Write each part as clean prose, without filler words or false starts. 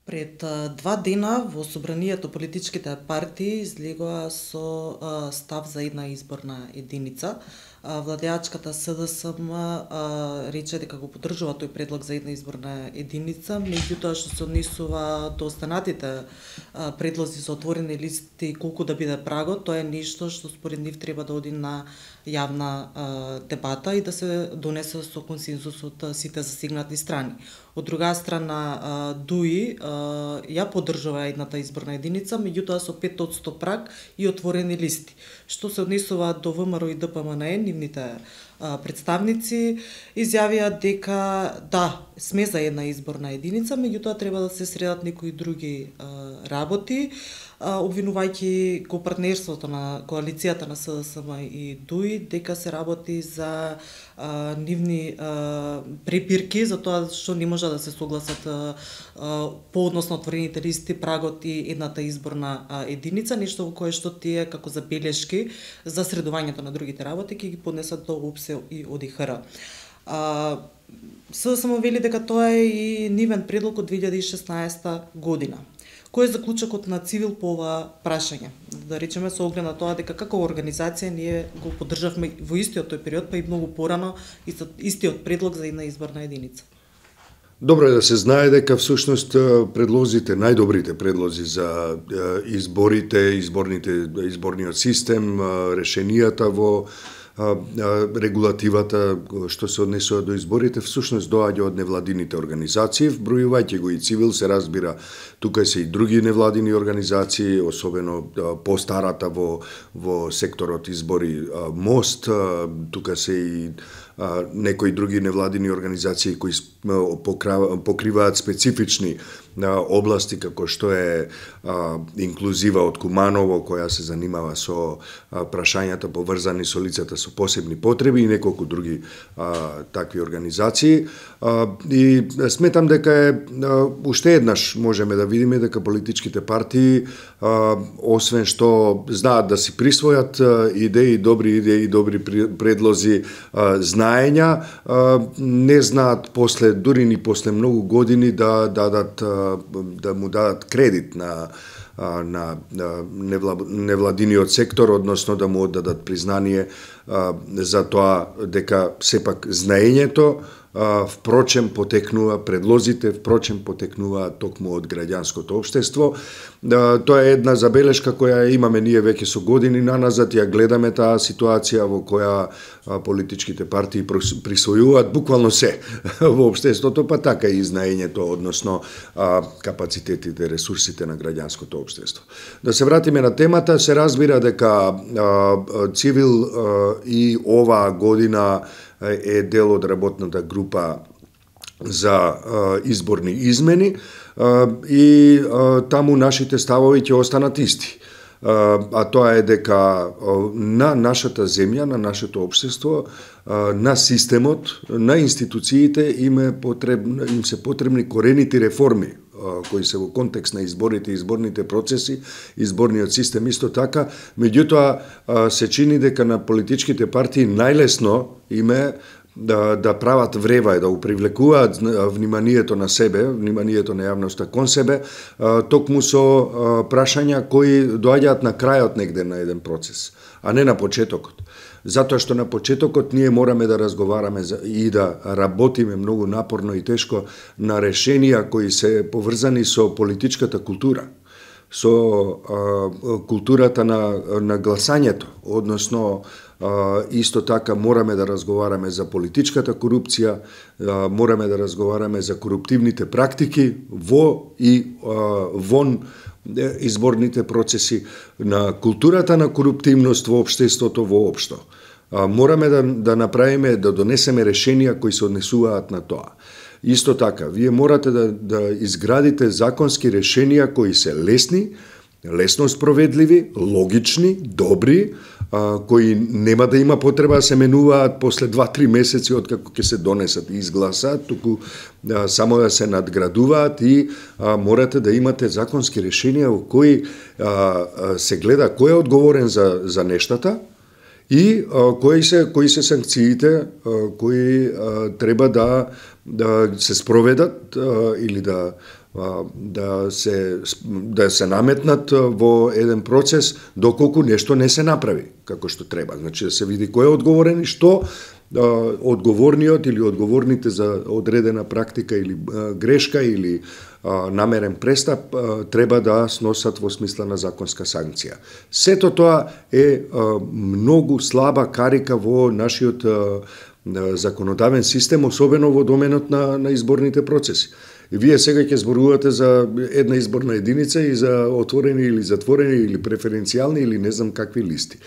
Пред 2 дена во собранието политичките партии излегоа со став за една изборна единица. Владеачката СДСМ рече дека го поддржува тој предлог за една изборна единица, меѓутоа што се однесува до останатите предлози за отворени листи и колку да биде прагот, тоа е нешто што според нив треба да оди на јавна дебата и да се донесе со консензус од сите засегнати страни. Од друга страна, ДУИ ја поддржува едната изборна единица, меѓутоа со 5% праг и отворени листи. Што се однесува до ВМРО и ДПМНЕ, нивните представници изјавија дека да, сме за една изборна единица, меѓутоа треба да се средат некои други работи, обвинувајќи го партнерството на коалицијата на СДСМ и ДУИ дека се работи за нивни препирки за тоа што не може да се согласат по односно отворените листи, прагот и едната изборна единица, нешто во кое што тие како забелешки за средувањето на другите работи ќе ги поднесат до УПСЕ и ОДИХР. СДСМ вели дека тоа е и нивен предлог од 2016 година. Кој е заклучокот на Цивил по ова прашање? Да речеме со оглед на тоа дека како организација ние го поддржавме во истиот тој период, па и многу порано истиот предлог за една изборна единица. Добро е да се знае дека всушност предлозите, најдобрите предлози за изборите, изборниот систем, решенијата во регулативата што се однесува до изборите всушност доаѓа од невладините организации, вбројувајќи го и Цивил, се разбира, тука се и други невладини организации, особено постарата во секторот избори Мост, тука се и некои други невладини организации кои покриваат специфични области како што е инклузива од Куманово, која се занимава со прашањата поврзани со лицата со посебни потреби и неколку други такви организации. И сметам дека е уште еднаш можеме да видиме дека политичките партии освен што знаат да си присвојат идеи, добри предлози, знаења, не знаат дури ни после многу години да му дадат кредит на невладиниот сектор, односно да му оддадат признание за тоа дека сепак знаењето впрочем потекнува, предлозите впрочем потекнуваат токму од граѓанското општество. Тоа е една забелешка која имаме ние веќе со години наназад, ја гледаме таа ситуација во која политичките партии присвојуваат буквално се во општеството, па така и знаењето, односно капацитетите, ресурсите на граѓанското општество. Да се вратиме на темата, се разбира дека Цивил и оваа година е дел од работната група за изборни измени и таму нашите ставови ќе останат исти. А тоа е дека на нашата земја, на нашето општество, на системот, на институциите им се потребни корените реформи кои се во контекст на изборите, изборните процеси, изборниот систем исто така. Меѓутоа се чини дека на политичките партии најлесно име да прават врева и да упривлекуваат вниманието на себе, вниманието на јавноста кон себе, токму со прашања кои доаѓаат на крајот негде на еден процес, а не на почетокот. Затоа што на почетокот ние мораме да разговараме и да работиме многу напорно и тешко на решенија кои се поврзани со политичката култура, со културата на гласањето, односно исто така мораме да разговараме за политичката корупција, мораме да разговараме за коруптивните практики во и вон изборните процеси, на културата на коруптивност во општеството воопшто. Мораме да направиме, да донесеме решенија кои се однесуваат на тоа. Исто така, вие морате да изградите законски решенија кои се лесно спроведливи, логични, добри, кои нема да има потреба да се менуваат после 2-3 месеци од како ќе се донесат и изгласаат, туку само да се надградуваат и морате да имате законски решенија во кои се гледа кој е одговорен за нештата и кои се санкциите кои треба да се спроведат или да да се наметнат во еден процес доколку нешто не се направи како што треба. Значи да се види кој е одговорен и што одговорниот или одговорните за одредена практика или грешка или намерен престап треба да сносат во смисла на законска санкција. Сето тоа е многу слаба карика во нашиот законодавен систем, особено во доменот на изборните процеси. И вие сега ќе зборувате за една изборна единица и за отворени или затворени или преференцијални или не знам какви листи.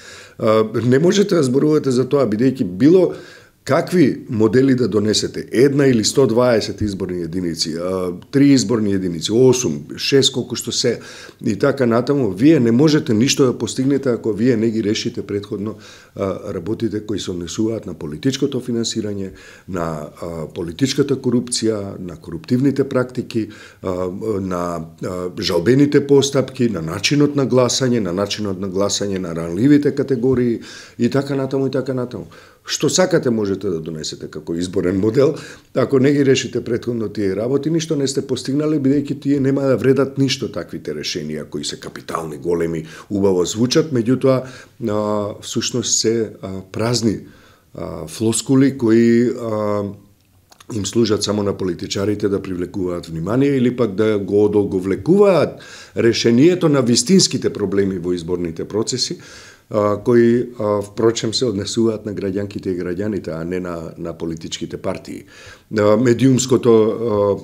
Не можете да зборувате за тоа, бидејќи било какви модели да донесете, една или 120 изборни единици, 3 изборни единици, 8, 6, колку што се, и така натаму, вие не можете ништо да постигнете ако вие не ги решите предходно работите кои се однесуваат на политичкото финансирање, на политичката корупција, на коруптивните практики, на жалбените постапки, на начинот на гласање на ранливите категории и така натаму и така натаму. Што сакате можете да донесете како изборен модел, ако не ги решите претходно тие работи, ништо не сте постигнале, бидејќи тие нема да вредат ништо таквите решенија кои се капитални, големи, убаво звучат, меѓутоа всушност се празни флоскули кои им служат само на политичарите да привлекуваат внимание или пак да го одолговлекуваат решението на вистинските проблеми во изборните процеси, кои впрочем се однесуваат на граѓанките и граѓаните, а не на политичките партии. Медиумското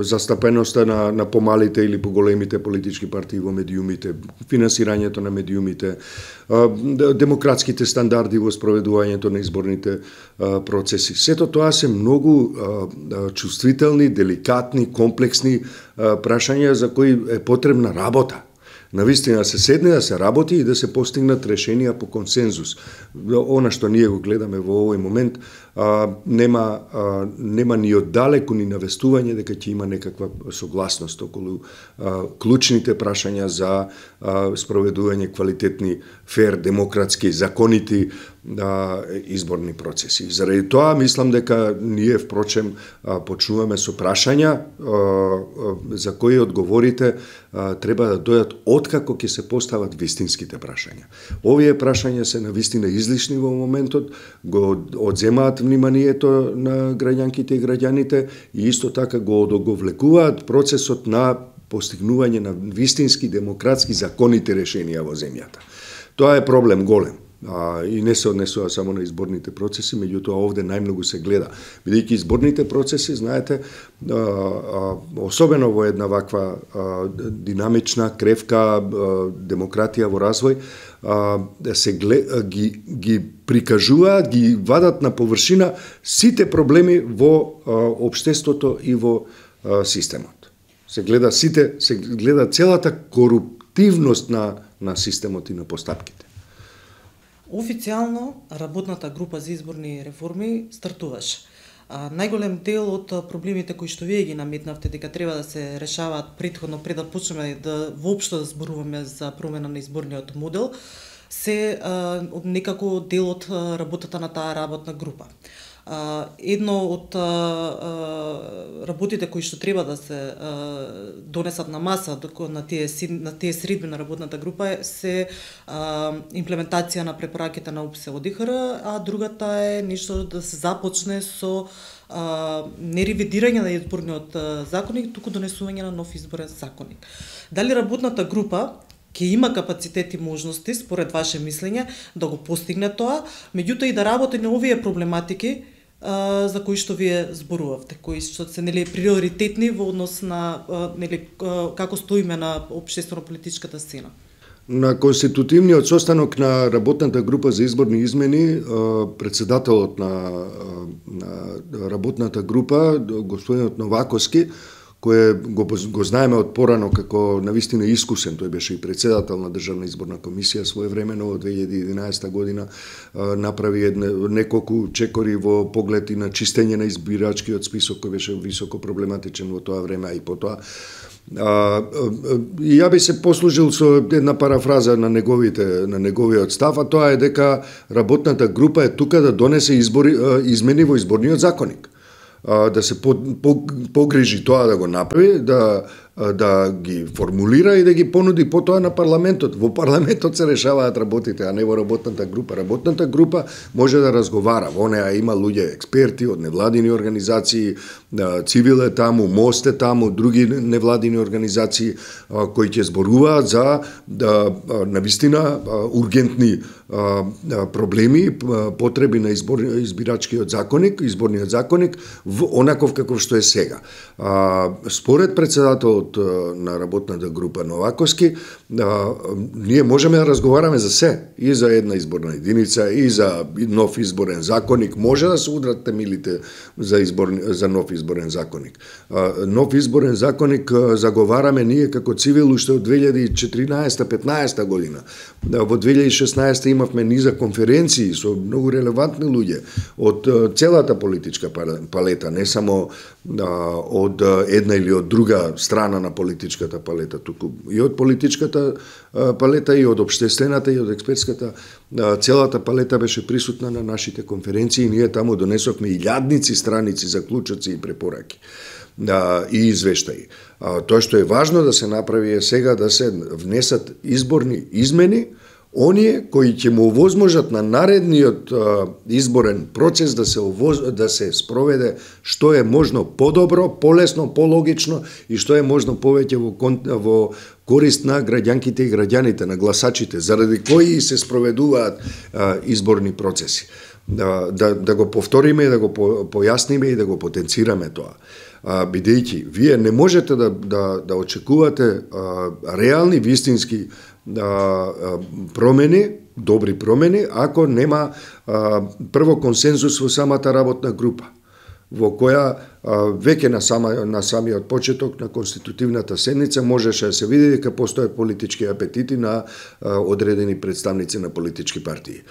застапеноста на помалите или поголемите политички партии во медиумите, финансирањето на медиумите, демократските стандарди во спроведувањето на изборните процеси. Сето тоа се многу чувствителни, деликатни, комплексни прашања за кои е потребна работа. Навистина да се седне, да се работи и да се постигнат решенија по консензус. Она што ние го гледаме во овој момент, нема ни оддалеку ни навестување дека ќе има некаква согласност околу клучните прашања за спроведување квалитетни, фер, демократски, законити изборни процеси. Заради тоа мислам дека ние впрочем почнуваме со прашања за кои одговорите треба да дојдат откако ќе се постават вистинските прашања. Овие прашања се навистина излишни во моментот, го одземаат вниманието на граѓанките и граѓаните и исто така го одоговлекуваат процесот на постигнување на вистински демократски законите решенија во земјата. Тоа е проблем голем. И не се однесува само на изборните процеси, меѓутоа овде најмногу се гледа. Бидејќи изборните процеси, знаете, особено во една ваква динамична, кревка демократија во развој, се ги прикажуваат, ги вадат на површина сите проблеми во општеството и во системот. Се гледа целата коруптивност на системот и на постапките. Официјално работната група за изборни реформи стартуваше. Најголем дел од проблемите кои што вие ги наметнавте дека треба да се решаваат претходно пред да почнеме да воопшто да зборуваме за промена на изборниот модел, се некако дел од работата на таа работна група. Едно од работите кои што треба да се донесат на маса на тие средби на работната група се имплементација на препораките на УПС-ОДИХР, а другата е нешто да се започне со не ревидирање на изборниот законник, туку донесување на нов изборен законник. Дали работната група ќе има капацитет и можности, според ваше мислење, да го постигне тоа, меѓутоа и да работи на овие проблематики за кои што вие зборувавте, кои што се приоритетни во однос на како стоиме на општествено-политичката сцена. На конститутивниот состанок на работната група за изборни измени, председателот на работната група, господинот Новаковски, кој го знаеме од порано како навистина искусен, тој беше и председател на Државна изборна комисија своевремено во 2011 година, направи неколку чекори во поглед и на чистење на избирачкиот список кој беше високо проблематичен во тоа време, а и потоа. И ја би се послужил со една парафраза на неговиот став, а тоа е дека работната група е тука да донесе измени во изборниот законник. да се погрижи тоа да го направи, да ги формулира и да ги понуди потоа на парламентот. Во парламентот се решаваат работите, а не во работната група. Работната група може да разговара. Во неа има луѓе експерти од невладини организации, Цивил е таму, Мост е таму, други невладини организации кои ќе зборуваат за навистина ургентни проблеми, потреби на избирачкиот законник, изборниот законник, онаков каков што е сега. Според председателот на работната група Новаковски, ние можеме да разговараме за се, и за една изборна единица, и за нов изборен законник, може да се удрат темелите за нов изборен законник. Нов изборен законник заговараме ние како Цивил уште од 2014-15 година. Во 2016 имавме низа конференции со многу релевантни луѓе од целата политичка палета, не само од една или од друга страна на политичката палета, туку и од политичката палета, и од општествената, и од експертската. Целата палета беше присутна на нашите конференции и ние таму донесовме илјадници страници заклучоци и препораки и извештаи. Тоа што е важно да се направи е сега да се внесат изборни измени, оние кои ќе му овозможат на наредниот изборен процес да се спроведе што е можно подобро, полесно, пологично и што е можно повеќе во корист на граѓанките и граѓаните, на гласачите, заради кои се спроведуваат изборни процеси. Да го повториме, да го појасниме и да го потенцираме тоа. Бидејќи вие не можете да очекувате реални, вистински промени, добри промени, ако нема прво консензус во самата работна група, во која веќе на самиот почеток на конститутивната седница можеше да се види дека постојат политички апетити на одредени представници на политички партии.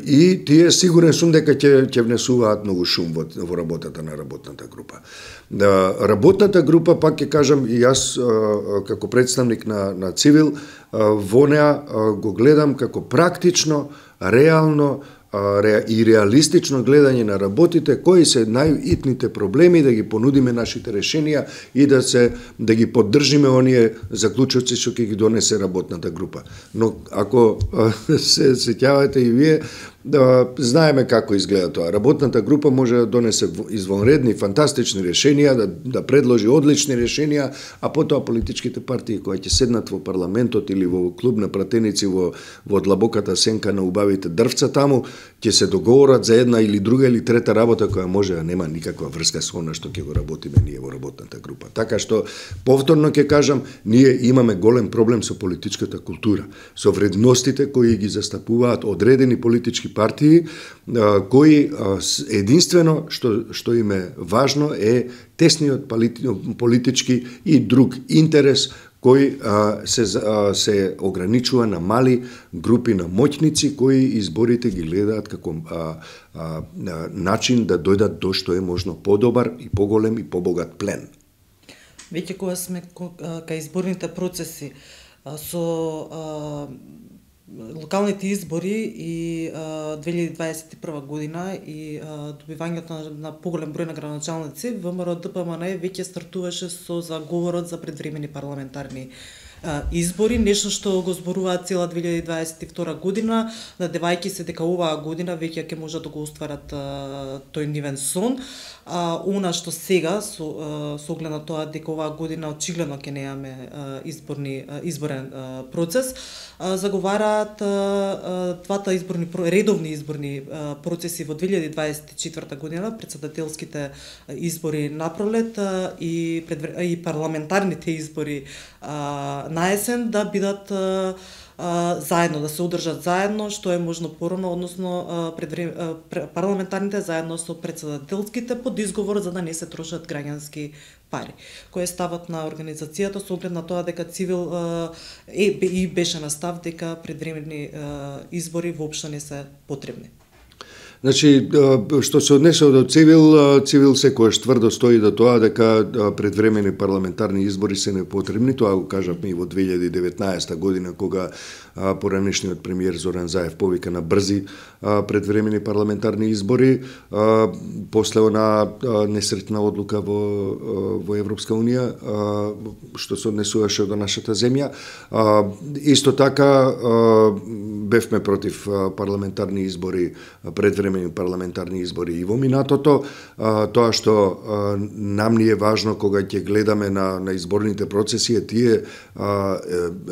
И тие сигурен сум дека ќе внесуваат многу шум во работата на работната група. Работната група, пак ќе кажам, и јас како представник на Цивил, во неа го гледам како практично, реално и реалистично гледање на работите, кои се најитните проблеми, да ги понудиме нашите решенија и да ги поддржиме оние заклучоци што ќе ги донесе работната група. Но ако се сеќавате и вие, знаеме како изгледа тоа. Работната група може да донесе извонредни, фантастични решенија, да предложи одлични решенија, а потоа политичките партии кои ќе седнат во парламентот или во клуб на пратеници во длабоката сенка на убавите дрвца таму, ќе се договорат за една или друга или трета работа која може да нема никаква врска со она што ќе го работиме ние во работната група. Така што, повторно ќе кажам, ние имаме голем проблем со политичката култура, со вредностите кои ги застапуваат одредени политички партии, кои единствено што им е важно е тесниот политички и друг интерес кој се ограничува на мали групи на моќници кои изборите ги гледаат како начин да дојдат до што е можно подобар и поголем и побогат плен. Веќе кога сме кај изборните процеси со локалните избори и 2021 година и добивањето на поголем број на градоначалници, ВМРО ДПМН веќе стартуваше со заговорот за предвремени парламентарни избори, нешто што го зборуваат цела 2022 година, надевајќи се дека оваа година веќе ќе можат да го остварат тој нивен сон. Она што сега, со оглед на тоа дека оваа година очигледно ќе немаме изборен процес, заговараат двата редовни изборни процеси во 2024 година, председателските избори напролет и парламентарните избори на есен да бидат заедно, да се одржат заедно, што е можно порано, односно парламентарните заедно со председателските под изговор за да не се трошат граѓански пари, кој е ставот на организацијата со оглед на тоа дека Цивил беше на став дека предвремени избори воопшто не се потребни. Значи, што се однесе до Цивил секојаш тврдо стои до тоа дека предвремени парламентарни избори се непотребни. Тоа го кажавме и во 2019 година, кога поранешниот премиер Зоран Заев повика на брзи предвремени парламентарни избори, после она несретна одлука во Европска Унија, што се однесуваше до нашата земја. Исто така, бевме против парламентарни избори, предвремени парламентарни избори и во минатото. Тоа што нам ни е важно кога ќе гледаме на изборните процеси е тие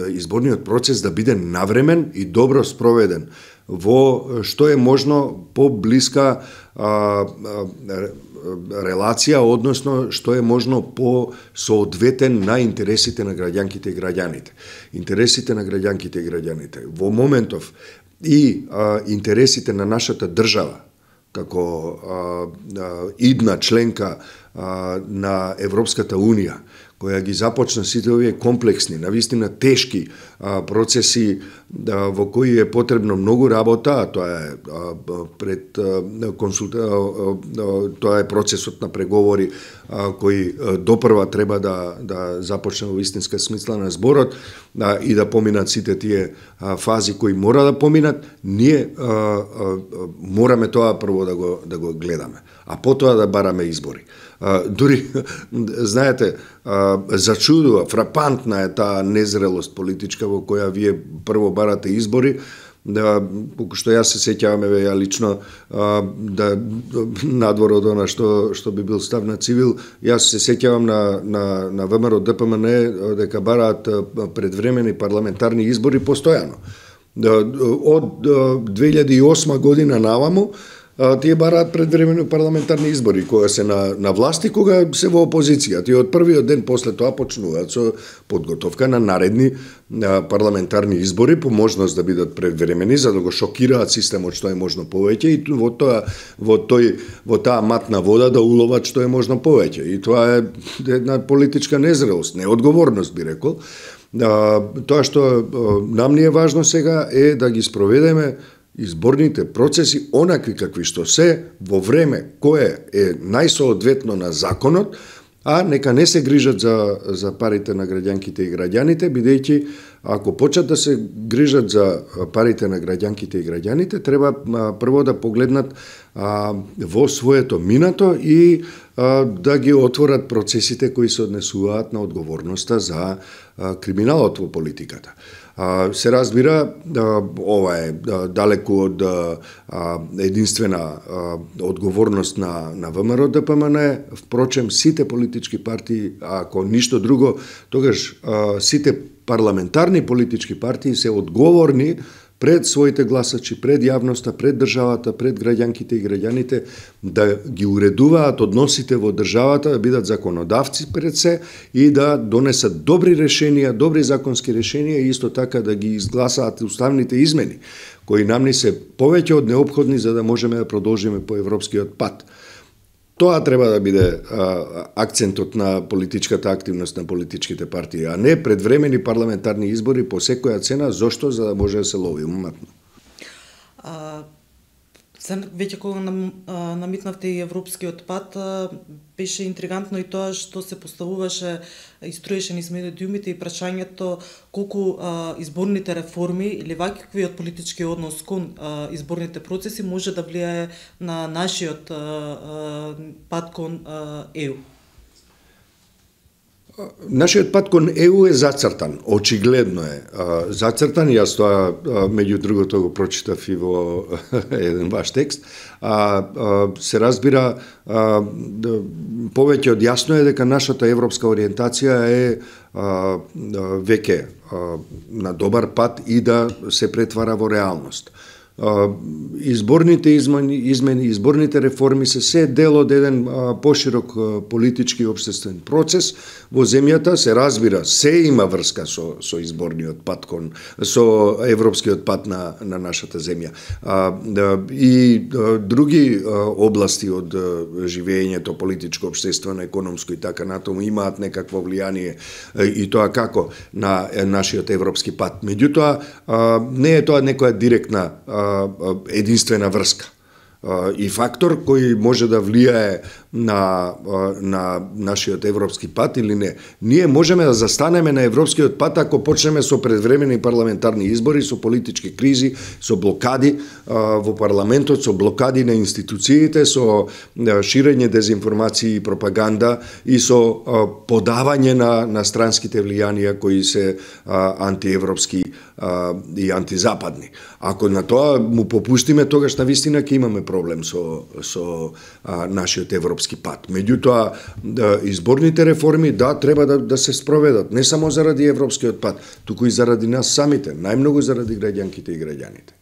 изборниот процес да биде навремен и добро спроведен во што е можно поблиска релација, односно што е можно по соодветен на интересите на граѓанките и граѓаните. Интересите на граѓанките и граѓаните. Во моментов и интересите на нашата држава, како идна членка на Европската Унија, која ги започна сите овие комплексни, навистина тешки процеси во кои е потребно многу работа, тоа е тоа е процесот на преговори кој допрва треба да започне во вистинска смисла на зборот и да поминат сите тие фази кои мора да поминат. Ние мораме тоа прво да го гледаме, а потоа да бараме избори. Дури, знаете, зачудува, фрапантна е таа незрелост политичка во која вие прво барате избори, колку што јас се сеќавам, ја лично, надвор од она што би бил став на Цивил, јас се сеќавам на ВМРО ДПМН дека бараат предвремени парламентарни избори постојано. Од 2008 година наваму, тие бараат предвремени парламентарни избори, кога се на власт и кога се во опозиција. Тие од првиот ден после тоа почнуваат со подготовка на наредни парламентарни избори, по можност да бидат предвремени, за да го шокираат системот што е можно повеќе и во таа матна вода да уловат што е можно повеќе. И тоа е една политичка незрелост, неодговорност би рекол. Тоа што нам ни е важно сега е да ги спроведеме изборните процеси онакви какви што се во време кое е најсоодветно на законот, а нека не се грижат за парите на граѓанките и граѓаните, бидејќи ако почнат да се грижат за парите на граѓанките и граѓаните, треба прво да погледнат во своето минато и да ги отворат процесите кои се однесуваат на одговорноста за криминалот во политиката. Се разбира, ова е далеку од единствена одговорност на ВМРО ДПМН, впрочем сите политички партии, ако ништо друго, тогаш сите парламентарни политички партии се одговорни пред своите гласачи, пред јавноста, пред државата, пред граѓанките и граѓаните, да ги уредуваат односите во државата, да бидат законодавци пред се и да донесат добри решенија, добри законски решенија и исто така да ги изгласаат уставните измени, кои нам ни се повеќе од неопходни за да можеме да продолжиме по европскиот пат. Тоа треба да биде акцентот на политичката активност на политичките партии, а не предвремени парламентарни избори по секоја цена. Зошто? За да може да се лови уматно. Веќе кога намитнавте и европскиот пат, беше интригантно и тоа што се поставуваше и струеше низ медиумите и прашањето колку изборните реформи или ваквиот политички однос кон изборните процеси може да влијае на нашиот пат кон ЕУ. Нашиот пат кон ЕУ е зацртан, очигледно е зацртан, јас тоа меѓу другото го прочитав и во еден ваш текст, се разбира повеќе од јасно е дека нашата европска ориентација е веќе на добар пат и да се претвара во реалност. Изборните измени, изборните реформи се дел од еден поширок политички и општествен процес во земјата. Се разбира, се има врска со изборниот пат со европскиот пат на нашата земја. И други области од живеењето, политичко, општествено, економско и така натаму имаат некакво влијание и тоа како на нашиот европски пат. Меѓутоа, не е тоа некоја директна единствена врска. и фактор кој може да влијае на нашиот европски пат или не. Ние можеме да застанеме на европскиот пат ако почнеме со предвремени парламентарни избори, со политички кризи, со блокади во парламентот, со блокади на институциите, со ширење дезинформации и пропаганда и со подавање на странските влијанија кои се антиевропски и антизападни. Ако на тоа му попустиме, тогаш навистина ќе имаме проблем со нашиот европски пат. Меѓутоа, изборните реформи, треба да се спроведат, не само заради европскиот пат, туку и заради нас самите, најмногу заради граѓанките и граѓаните.